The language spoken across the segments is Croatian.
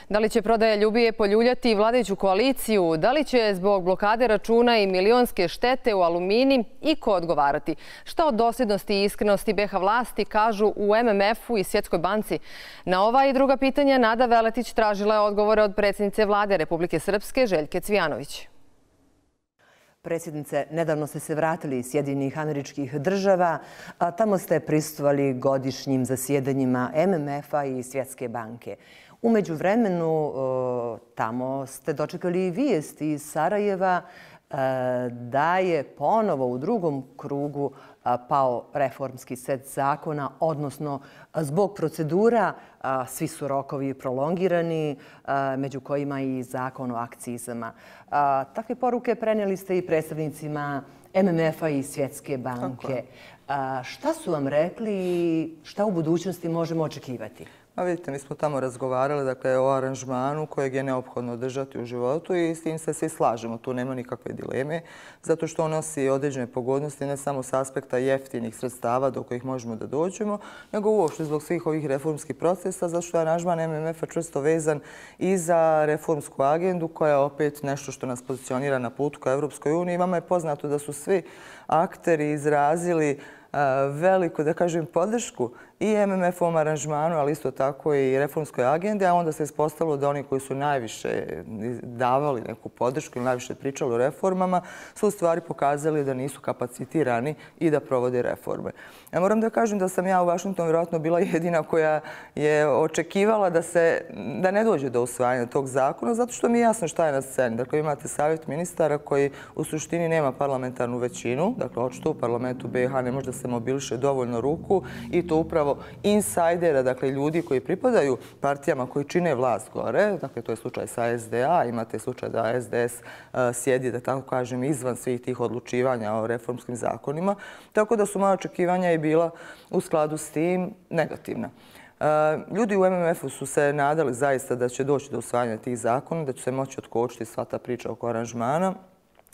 Da li će prodaja Ljubije poljuljati vladajuću koaliciju? Da li će zbog blokade računa i milionske štete u Alumini iko odgovarati? Šta o dosljednosti i iskrenosti BiH vlasti kažu u MMF-u i Svjetskoj banci? Na ova i druga pitanja Nada Veletić tražila je odgovore od predsjednice Vlade Republike Srpske Željke Cvijanović. Predsjednice, nedavno ste se vratili iz Sjedinjenih Američkih Država, a tamo ste prisustvovali godišnjim zasjedanjima MMF-a i Svjetske banke. U međuvremenu tamo ste dočekali vijesti iz Sarajeva da je ponovo u drugom krugu pao reformski set zakona, odnosno zbog procedura svi su rokovi prolongirani, među kojima i zakon o akcizama. Takve poruke prenijeli ste i predstavnicima MMF-a i Svjetske banke. Šta su vam rekli i šta u budućnosti možemo očekivati? Vidite, mi smo tamo razgovarali o aranžmanu kojeg je neophodno održati u životu i s tim se svi slažemo. Tu nema nikakve dileme, zato što on nosi određene pogodnosti ne samo s aspekta jeftinih sredstava do kojih možemo da dođemo, nego uopšte zbog svih ovih reformskih procesa, zato što je aranžman MMF-a čvrsto vezan i za reformsku agendu koja je opet nešto što nas pozicionira na putu ka Evropskoj uniji. Vama je poznato da su svi akteri izrazili veliku, da kažem, podršku i MMF-ovom aranžmanu, ali isto tako i reformskoj agendi, a onda se ispostavilo da oni koji su najviše davali neku podršku ili najviše pričali o reformama su u stvari pokazali da nisu kapacitirani i da provode reforme. Ja moram da kažem da sam ja u Vašingtonu vjerojatno bila jedina koja je očekivala da ne dođe do usvajanja tog zakona, zato što mi je jasno šta je na sceni. Dakle, imate savjet ministara koji u suštini nema parlamentarnu većinu, dakle, očito u parlamentu BiH ne može da se mobiliše dovoljno ruku i to upravo insajdera, dakle ljudi koji pripadaju partijama koji čine vlast gore, dakle to je slučaj sa SDA, imate slučaj da SDS sjedi, da tako kažem, izvan svih tih odlučivanja o reformskim zakonima, tako da su moja očekivanja i bila u skladu s tim negativna. Ljudi u MMF-u su se nadali zaista da će doći do usvajanja tih zakona, da će se moći otkočiti sva ta priča oko aranžmana.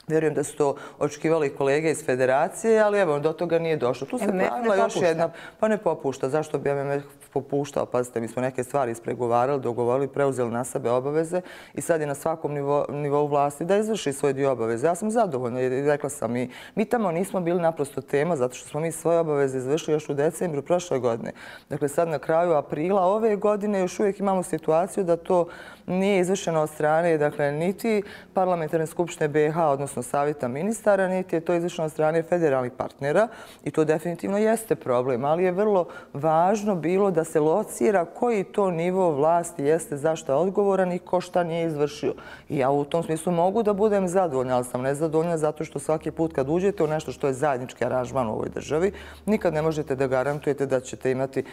Vjerujem da su to očekivali kolege iz federacije, ali evo, do toga nije došlo. Tu se pojavila još jedna, pa ne popušta. Zašto bi MMF popuštao? Pazite, mi smo neke stvari ispregovarali, dogovorili, preuzeli na sebe obaveze i sad je na svakom nivou vlasti da izvrši svoj dio obaveze. Ja sam zadovoljna jer rekla sam mi tamo nismo bili naprosto tema zato što smo mi svoje obaveze izvršili još u decembru prošle godine. Dakle, sad na kraju aprila ove godine još uvijek imamo situaciju da to nije izvršeno od strane, dakle, niti parlamentarne skupštine BiH, odnosno savjeta ministara, niti je to izvršeno od strane federalnih partnera i to definitivno jeste problem, ali je vrlo važno bilo da se locira koji to nivo vlasti jeste zašto je odgovoran i ko šta nije izvršio. I ja u tom smislu mogu da budem zadovoljna, ali sam nezadovoljna zato što svaki put kad uđete u nešto što je zajednički aranžman u ovoj državi, nikad ne možete da garantujete da ćete imati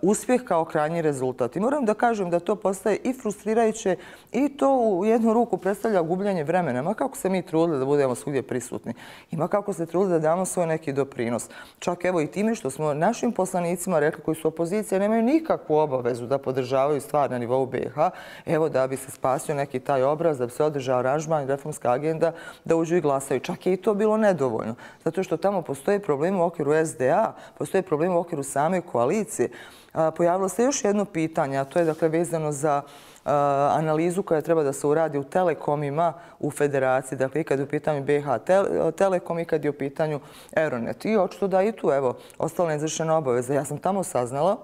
uspjeh kao krajnji rezultat. I moram da kažem da to postaje i frustrirajuće i to u jednu ruku predstavlja gubljenje vremena. Ma kako se mi trudili da budemo svugdje prisutni. Ima kako se trudili da damo svoj neki doprinos. Čak evo i time što smo našim poslanicima rekli koji su opozicije nemaju nikakvu obavezu da podržavaju stvar na nivou BiH. Evo da bi se spasio neki taj obraz, da bi se održao aranžman i reformska agenda, da uđu i glasaju. Čak je i to bilo nedovoljno. Zato što tamo postoje problemi u okviru SDA, postoje problemi u okviru same koalicije. Pojavilo se još jedno pitanje, a to je dakle vezano za analizu koja treba da se uradi u telekomima u federaciji, dakle i kad je u pitanju BiH Telekom i kad je u pitanju Euronet. I očito da i tu, evo, ostala neizvršena obaveza. Ja sam tamo saznala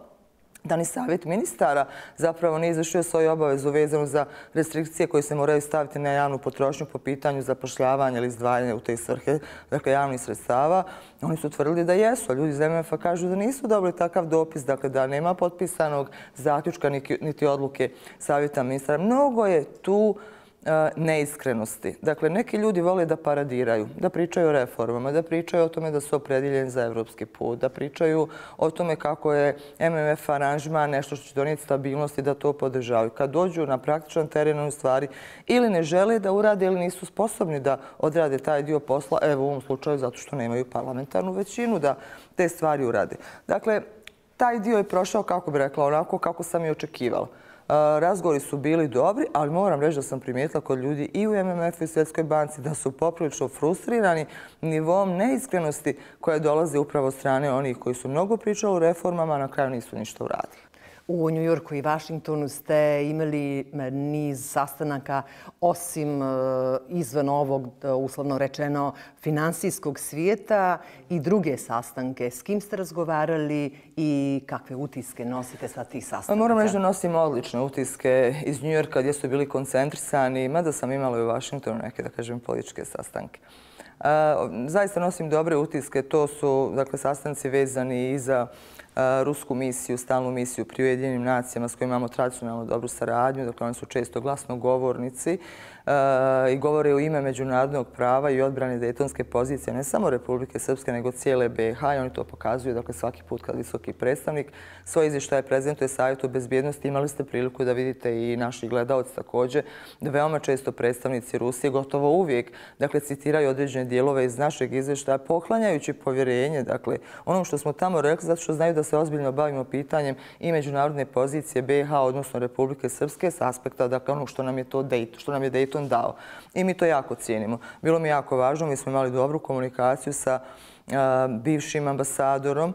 da ni savjet ministara zapravo nije izvršio svoju obavezu vezanu za restrikcije koje se moraju staviti na javnu potrošnju po pitanju zapošljavanja ili izdvajanja u te svrhe, dakle javnih sredstava. Oni su tvrdili da jesu, a ljudi iz MMF-a kažu da nisu dobili takav dopis, dakle da nema potpisanog zaključka niti odluke savjeta ministara. Mnogo je tu neiskrenosti. Dakle, neki ljudi vole da paradiraju, da pričaju o reformama, da pričaju o tome da su opredjeljeni za evropski put, da pričaju o tome kako je MMF aranžman nešto što će donijeti stabilnost i da to podržavaju. Kad dođu na praktičan teren, u stvari ili ne žele da urade ili nisu sposobni da odrade taj dio posla, evo u ovom slučaju zato što nemaju parlamentarnu većinu da te stvari urade. Dakle, taj dio je prošao, kako bi rekla, onako kako sam i očekivala. Razgovori su bili dobri, ali moram reći da sam primijetila kod ljudi i u MMF-u i Svjetskoj banci da su poprilično frustrirani nivom neiskrenosti koja dolazi upravo od strane onih koji su mnogo pričali o reformama, a na kraju nisu ništa uradili. U Njujorku i Vašingtonu ste imali niz sastanaka osim izvan ovog, uslovno rečeno, finansijskog svijeta i druge sastanke. S kim ste razgovarali i kakve utiske nosite sa tih sastanaka? Moram reći da nosim odlične utiske iz Njujorka gdje su bili koncentrisani, mada sam imala i u Vašingtonu neke, da kažem, političke sastanke. Zaista nosim dobre utiske. To su sastanci vezani i za rusku misiju, stalnu misiju pri Ujedinjenim nacijama s kojima imamo tradicionalno dobru saradnju. Dakle, oni su često glasnogovornici i govore u ime međunarodnog prava i odbrane dejtonske pozicije ne samo Republike Srpske, nego cijele BiH i oni to pokazuju svaki put kad visoki predstavnik svoje izvještaje prezentuje Savjetu bezbjednosti. Imali ste priliku da vidite i naši gledaoci također da veoma često predstavnici Rusije gotovo uvijek citiraju određene dijelove iz našeg izvještaja poklanjajući povjerenje onom što smo tamo rekli zato što znaju da se ozbiljno bavimo pitanjem i međunarodne pozicije BiH, odnosno Republike Srpske s aspekta onog što nam je Dayton dao. I mi to jako cijenimo. Bilo mi jako važno, mi smo imali dobru komunikaciju sa bivšim ambasadorom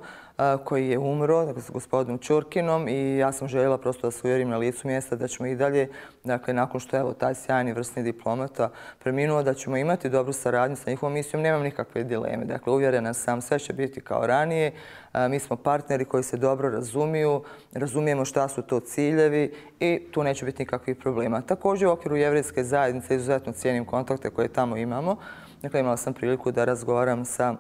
koji je umro, s gospodinom Ćurkinom i ja sam željela prosto da se uvjerim na licu mjesta da ćemo i dalje, nakon što je taj sjajni vrsni diplomata preminuo, da ćemo imati dobru saradnju sa njihovom misijom. Nemam nikakve dileme. Uvjerena sam, sve će biti kao ranije. Mi smo partneri koji se dobro razumiju, razumijemo šta su to ciljevi i tu neće biti nikakvih problema. Također u okviru jevrejske zajednice izuzetno cijenim kontakte koje tamo imamo. Imala sam priliku da razgovaram sa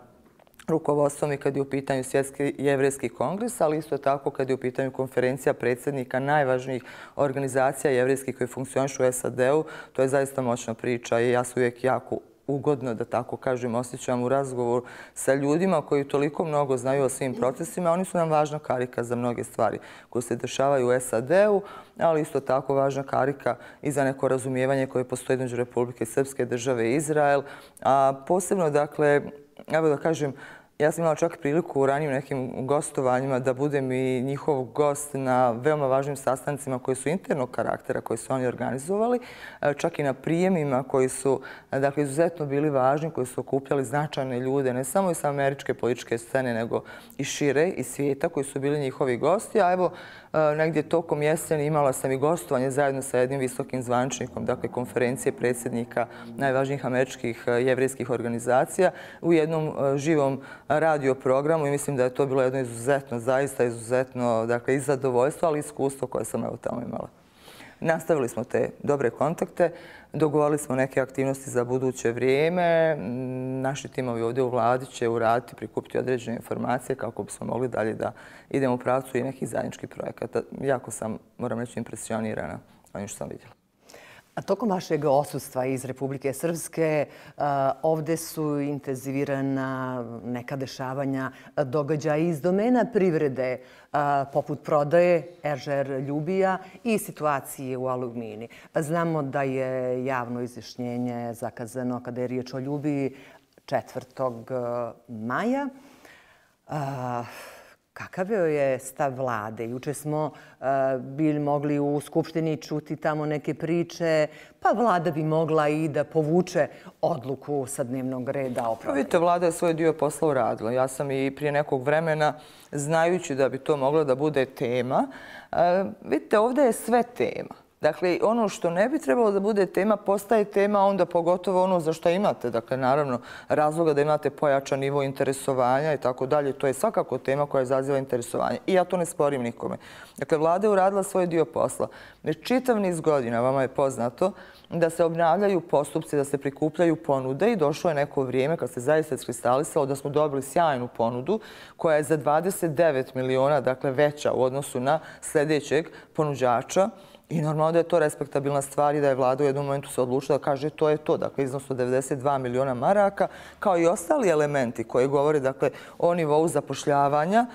rukovodstvom i kad je u pitanju Svjetski jevrejski kongres, ali isto tako kad je u pitanju konferencija predsjednika najvažnijih organizacija jevrejskih koji funkcionišu u SAD-u. To je zaista moćna priča i ja se uvijek jako ugodno, da tako kažem, osjećam u razgovoru sa ljudima koji toliko mnogo znaju o svim procesima. Oni su nam važna karika za mnoge stvari koje se dešavaju u SAD-u, ali isto tako važna karika i za neko razumijevanje koje postoji između Republike Srpske, države i Izrael. A posebno, evo da kažem, ja sam imala čak priliku u ranijim nekim gostovanjima da budem i njihov gost na veoma važnim sastancima koji su internog karaktera, koji su oni organizovali, čak i na prijemima koji su izuzetno bili važni, koji su okupljali značajne ljude, ne samo iz američke političke scene, nego i šire, iz svijeta, koji su bili njihovi gosti. A evo, negdje tokom jeseni imala sam i gostovanje zajedno sa jednim visokim zvaničnikom, konferencije predsjednika najvažnijih američkih jevrejskih organizacija u jednom živom radio programu i mislim da je to bilo jedno izuzetno, zaista izuzetno, i zadovoljstvo, ali i iskustvo koje sam tamo imala. Nastavili smo te dobre kontakte, dogovorili smo neke aktivnosti za buduće vrijeme. Naši timovi ovdje u vladi će uraditi, prikupiti određene informacije kako bismo mogli dalje da idemo u pravcu i nekih zajedničkih projekata. Jako sam, moram reći, impresionirana onim što sam vidjela. A tokom vašeg odsustva iz Republike Srpske ovdje su intenzivirana neka dešavanja, događaja iz domena privrede, poput prodaje Eržer Ljubija i situacije u Alumini. Znamo da je javno izjašnjenje zakazano kada je riječ o Ljubiji 4. maja. Kakav je stav vlade? Juče smo bili mogli u Skupštini čuti tamo neke priče, pa vlada bi mogla i da povuče odluku sa dnevnog reda o prodaji. Vidite, vlada je svoj dio posla uradila. Ja sam i prije nekog vremena, znajući da bi to moglo da bude tema, vidite, ovdje je sve tema. Dakle, ono što ne bi trebalo da bude tema, postaje tema, onda pogotovo ono za što imate. Dakle, naravno, razloga da imate pojačan nivo interesovanja i tako dalje. To je svakako tema koja izaziva interesovanje. I ja to ne sporim nikome. Dakle, vlada je uradila svoj dio posla. Već čitav niz godina, vama je poznato, da se obnavljaju postupci, da se prikupljaju ponude i došlo je neko vrijeme kad se zaista iskristalisalo da smo dobili sjajnu ponudu koja je za 29 miliona, dakle, veća u odnosu na sljedećeg ponuđača. I normalno da je to respektabilna stvar i da je vlada u jednom momentu se odlučila da kaže to je to. Dakle, iznos od 92 miliona maraka, kao i ostali elementi koji govore o nivou zapošljavanja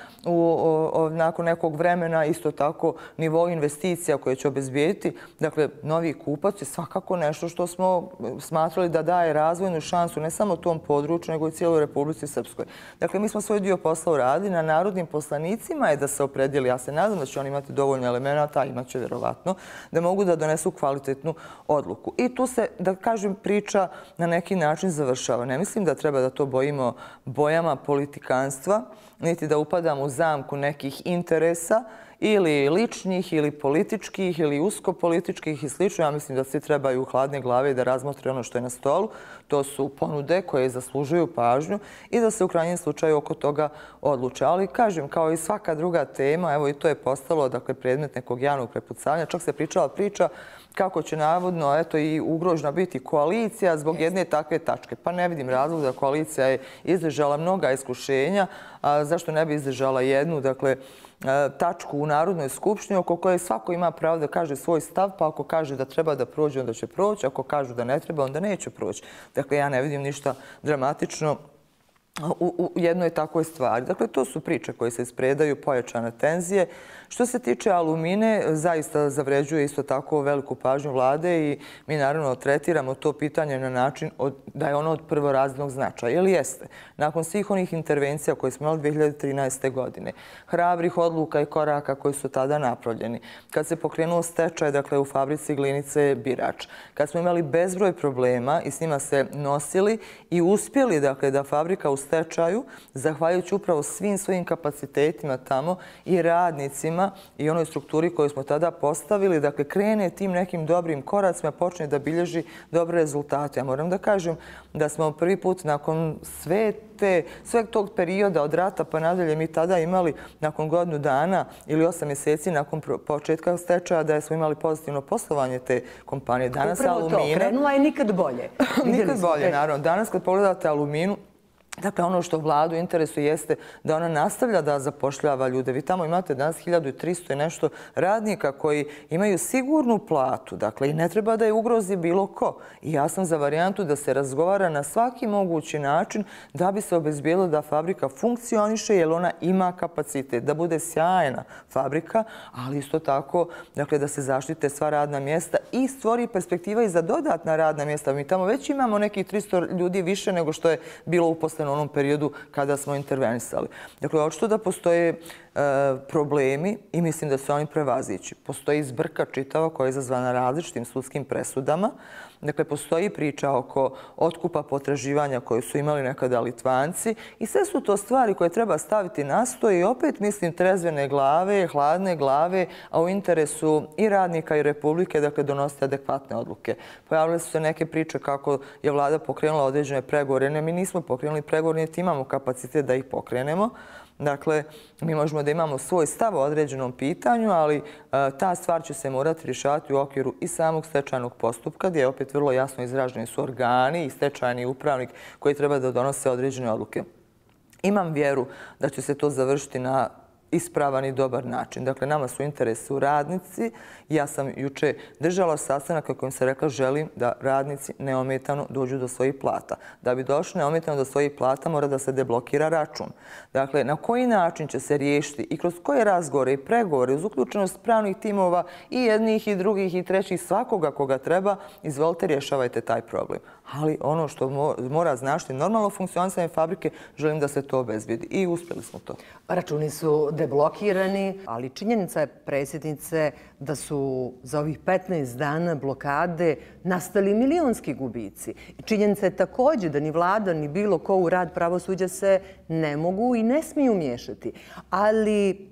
nakon nekog vremena, isto tako nivou investicija koje će obezbijediti. Dakle, novi kupac je svakako nešto što smo smatrali da daje razvojnu šansu ne samo tom području, nego i cijeloj Republici Srpskoj. Dakle, mi smo svoj dio posla uradili. Na narodnim poslanicima je da se opredijeli. Ja se nadam da će oni imati dovoljno elemenata, imaće vjerovatno, da mogu da donesu kvalitetnu odluku. I tu se, da kažem, priča na neki način završava. Ne mislim da treba da to bojimo bojama politikanstva, niti da upadamo u zamku nekih interesa ili ličnih, ili političkih, ili uskopolitičkih i slično. Ja mislim da svi trebaju hladne glave da razmotre ono što je na stolu. To su ponude koje zaslužuju pažnju i da se u krajnjem slučaju oko toga odluče. Ali kažem, kao i svaka druga tema, evo i to je postalo predmet nekog javnog prepucavanja. Čak se pričala priča kako će navodno i ugrožena biti koalicija zbog jedne takve tačke. Pa ne vidim razlog da koalicija je izdržala mnoga iskušenja, a zašto ne bi izdržala jednu, tačku u Narodnoj skupštini oko koje svako ima pravo da kaže svoj stav, pa ako kaže da treba da prođe, onda će proći, ako kažu da ne treba, onda neće proći. Dakle, ja ne vidim ništa dramatično u jednoj takvoj stvari. Dakle, to su priče koje se ispredaju, pojačane tenzije. Što se tiče Alumine, zaista zavređuje isto tako veliku pažnju vlade i mi naravno tretiramo to pitanje na način da je ono od prvorazrednog značaja. Jer jeste, nakon svih onih intervencija koje smo imali 2013. godine, hrabrih odluka i koraka koji su tada napravljeni, kad se pokrenuo stečaj, u fabrici Glinice Birač, kad smo imali bezbroj problema i s njima se nosili i uspjeli da fabrika u stečaju, zahvaljujući upravo svim svojim kapacitetima tamo i radnicima i onoj strukturi koju smo tada postavili, krene tim nekim dobrim koracima, počne da bilježi dobre rezultate. Ja moram da kažem da smo prvi put nakon sveg tog perioda od rata pa nadalje mi tada imali nakon godinu dana ili 8 mjeseci nakon početka stečaja da smo imali pozitivno poslovanje te kompanije. Danas upravo to, krenula je nikad bolje. Nikad bolje, naravno. Danas kad pogledate Aluminu, ono što vladu interesuje jeste da ona nastavlja da zapošljava ljude. Vi tamo imate danas 1300 i nešto radnika koji imaju sigurnu platu. I ne treba da je ugrozi bilo ko. I ja sam za varijantu da se razgovara na svaki mogući način da bi se obezbijelo da fabrika funkcioniše jer ona ima kapacitet, da bude sjajna fabrika, ali isto tako da se zaštite sva radna mjesta i stvori perspektiva i za dodatna radna mjesta. Mi tamo već imamo nekih 300 ljudi više nego što je bilo uposleno u onom periodu kada smo intervenisali. Očito da postoje problemi i mislim da su oni prevazići. Postoji zbrka čitava koja je izazvana različitim sudskim presudama. Postoji priča oko otkupa potraživanja koje su imali nekada Litvanci i sve su to stvari koje treba staviti na sto i opet mislim trezvene glave, hladne glave, a u interesu i radnika i Republike donositi adekvatne odluke. Pojavile su se neke priče kako je vlada pokrenula određene pregovore. Ne, mi nismo pokrenuli pregovore, niti imamo kapacitet da ih pokrenemo. Mi možemo da imamo svoj stav o određenom pitanju, ali ta stvar će se morati rješavati u okviru i samog stečajnog postupka, gdje je opet vrlo jasno izraženi su organi i stečajni upravnik koji treba da donose određene odluke. Imam vjeru da će se to završiti na ispravan i dobar način. Nama su interesu radnici. Ja sam juče držala sastanak na kojem se rekla želim da radnici neometano dođu do svojih plata. Da bi došli neometano do svojih plata mora da se deblokira račun. Na koji način će se riješiti i kroz koje razgovore i pregovore uz uključenost pravnih timova i jednih i drugih i trećih svakoga koga treba, izvolite rješavajte taj problem. Ali ono što mora značiti normalno funkcionisanje fabrike, želim da se to obezbedi. I uspjeli smo to. Računi su deblokirani, ali činjenica je, predsjednice, da su za ovih 15 dana blokade nastali milionski gubici. I činjenica je također da ni vlada, ni bilo ko u rad pravosuđa se ne mogu i ne smiju miješati. Ali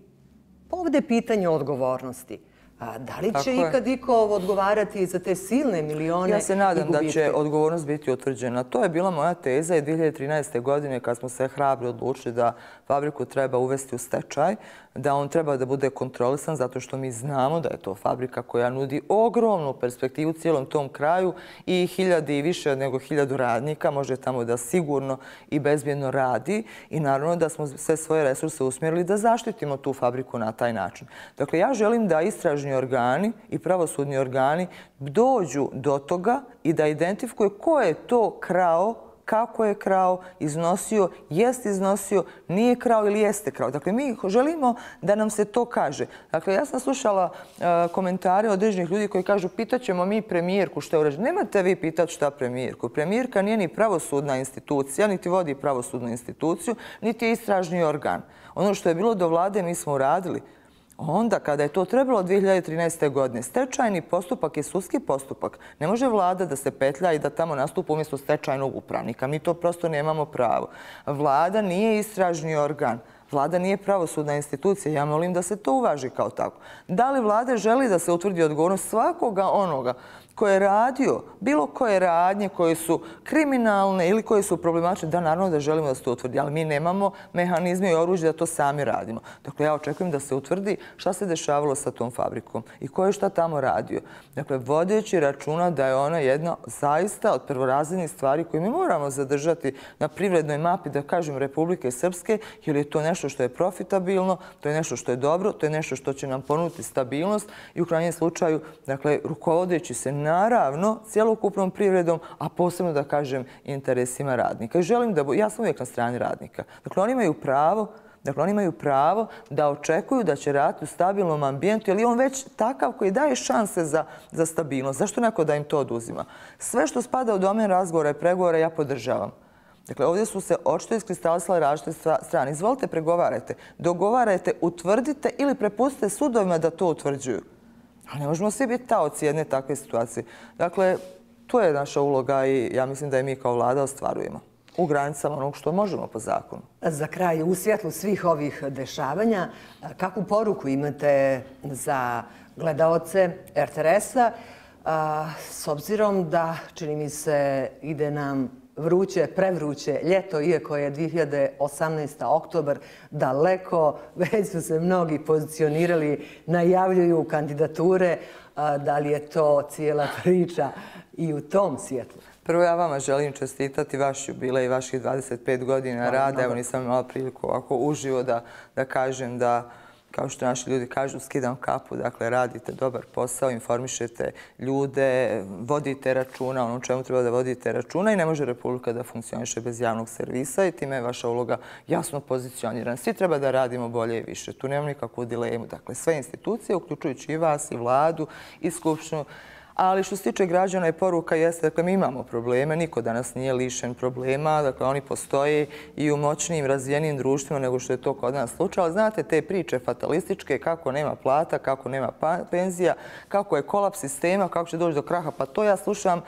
ovdje je pitanje odgovornosti. Da li će ikad iko odgovarati za te silne milione i gubitke? Ja se nadam da će odgovornost biti utvrđena. To je bila moja teza i 2013. godine kad smo se hrabro odlučili da fabriku treba uvesti u stečaj, da on treba da bude kontrolisan zato što mi znamo da je to fabrika koja nudi ogromnu perspektivu cijelom tom kraju i 1000 i više nego 1000 radnika može tamo da sigurno i bezbjedno radi i naravno da smo sve svoje resurse usmjerili da zaštitimo tu fabriku na taj način. Dakle, ja želim da istražni organi i pravosudni organi dođu do toga i da identifikuju ko je to krao, kako je krao, iznosio, jest iznosio, nije krao ili jeste krao. Dakle, mi želimo da nam se to kaže. Dakle, ja sam slušala komentare određenih ljudi koji kažu pitaćemo mi premijerku što je urađeno. Nemate vi pitati šta premijerku. Premijerka nije ni pravosudna institucija, niti vodi pravosudnu instituciju, niti je istražni organ. Ono što je bilo do vlade mi smo uradili. Onda, kada je to trebalo 2013. godine, stečajni postupak je sudski postupak. Ne može vlada da se petlja i da tamo nastupa umjesto stečajnog upravnika. Mi to prosto nemamo pravo. Vlada nije istražni organ. Vlada nije pravosudna institucija. Ja molim da se to uvaži kao tako. Da li Vlada želi da se utvrdi odgovornost svakoga onoga koji je radio bilo koje radnje koje su kriminalne ili koje su problematične, da naravno da želimo da se to utvrdi, ali mi nemamo mehanizme i oružje da to sami radimo. Dakle, ja očekujem da se utvrdi šta se dešavalo sa tom fabrikom i ko je šta tamo radio. Dakle, vodeći računa da je ona jedna zaista od prvorazrednih stvari koje mi moramo zadržati na privrednoj mapi, da kažem, Republike Srpske, jer je to nešto što je profitabilno, to je nešto što je dobro, to je nešto što će nam ponuditi stabilnost i u krajnjem slučaju, dakle, rukovodeći se naravno cjelokupnom privredom, a posebno da kažem interesima radnika. I želim da, ja sam uvijek na strani radnika. Dakle, oni imaju pravo da očekuju da će raditi u stabilnom ambijentu, jer je on već takav koji daje šanse za stabilnost. Zašto neko da im to oduzima? Sve što spada u domen razgovora i pregovora ja podržavam. Dakle, ovdje su se očito iskristalisale različite strane. Izvolite, pregovarajte, dogovarajte, utvrdite ili prepustite sudovima da to utvrđuju. Ali ne možemo svi biti taoci jedne takve situacije. Dakle, to je naša uloga i ja mislim da je mi kao Vlada ostvarujemo u granicama onog što možemo po zakonu. Za kraj, u svjetlu svih ovih dešavanja, kakvu poruku imate za gledaoce RTS-a, s obzirom da, čini mi se, ide nam vruće, prevruće ljeto, iako je 2018. oktobar daleko, već su se mnogi pozicionirali, najavljuju kandidature. Da li je to cijela priča i u tom svjetlu? Prvo, ja vama želim čestitati vaš jubilej i vaših 25 godina rada. Evo, nisam imala priliku ovako uživo da kažem da, kao što naši ljudi kažu, skidam kapu. Dakle, radite dobar posao, informišete ljude, vodite računa ono čemu treba da vodite računa i ne može Republika da funkcioniše bez javnog servisa i time je vaša uloga jasno pozicionirana. Svi treba da radimo bolje i više. Tu nemam nikakvu dilemu. Dakle, sve institucije, uključujući i vas, i Vladu, i Skupštinu. Ali što se tiče građana i poruka jeste, dakle, mi imamo probleme, niko danas nije lišen problema, dakle, oni postoje i u moćnijim, razvijenim društvima nego što je to kod nas slučaj. Ali znate, te priče fatalističke, kako nema plata, kako nema penzija, kako je kolaps sistema, kako će doći do kraha, pa to ja slušam,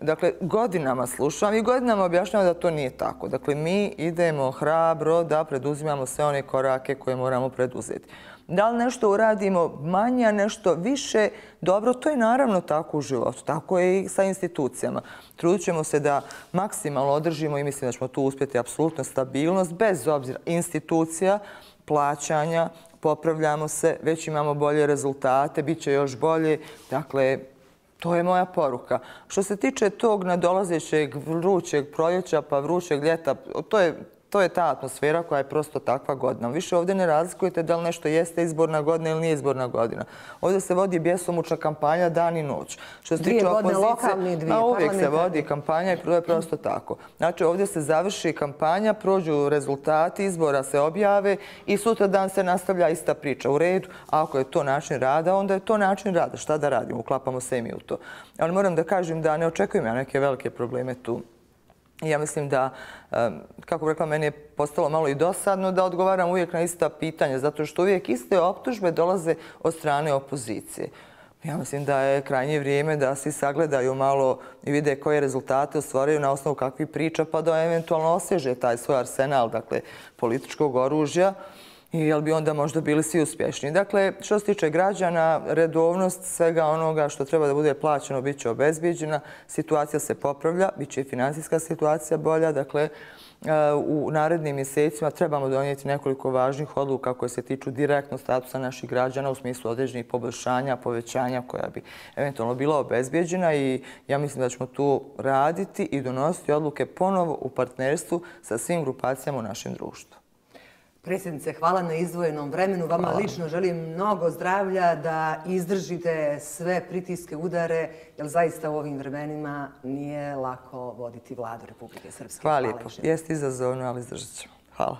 dakle, godinama slušam i godinama objašnjavam da to nije tako. Dakle, mi idemo hrabro da preduzimamo sve one korake koje moramo preduzeti. Da li nešto uradimo manje, nešto više, dobro, to je naravno tako u životu. Tako je i sa institucijama. Trudit ćemo se da maksimalno održimo i mislim da ćemo tu uspjeti apsolutno stabilnost, bez obzira institucija, plaćanja, popravljamo se, već imamo bolje rezultate, bit će još bolje. Dakle, to je moja poruka. Što se tiče tog nadolazećeg vrućeg proljeća pa vrućeg ljeta, to je ta atmosfera koja je prosto takva godina. Više ovdje ne razlikujete da li nešto jeste izborna godina ili nije izborna godina. Ovdje se vodi bjesomučna kampanja dan i noć. Što se tiče opozicije, uvijek se vodi kampanja i to je prosto tako. Znači, ovdje se završi kampanja, prođu rezultati, izbora se objave i sutra dan se nastavlja ista priča. U redu, ako je to način rada, onda je to način rada. Šta da radimo? Uklapamo se i mi u to. Ali moram da kažem da ne očekujem ja neke velike probleme tu. Ja mislim da, kako bih rekla, meni je postalo malo i dosadno da odgovaram uvijek na ista pitanja, zato što uvijek iste optužbe dolaze od strane opozicije. Ja mislim da je krajnje vrijeme da svi sagledaju malo i vide koje rezultate ostvaraju na osnovu kakvih priča, pa da eventualno osvježe taj svoj arsenal, dakle, političkog oružja, i jel bi onda možda bili svi uspješni. Dakle, što se tiče građana, redovnost svega onoga što treba da bude plaćeno bit će obezbijeđena, situacija se popravlja, bit će i financijska situacija bolja, dakle, u narednim mjesecima trebamo donijeti nekoliko važnih odluka koje se tiču direktno statusa naših građana u smislu određenih poboljšanja, povećanja koja bi eventualno bila obezbijeđena i ja mislim da ćemo tu raditi i donositi odluke ponovo u partnerstvu sa svim grupacijama u našem društvu. Predsjednice, hvala na izdvojenom vremenu. Vama lično želim mnogo zdravlja, da izdržite sve pritiske, udare, jer zaista u ovim vremenima nije lako voditi Vladu Republike Srpske. Hvala lijepo. Jeste izazovno, ali izdržat ćemo. Hvala.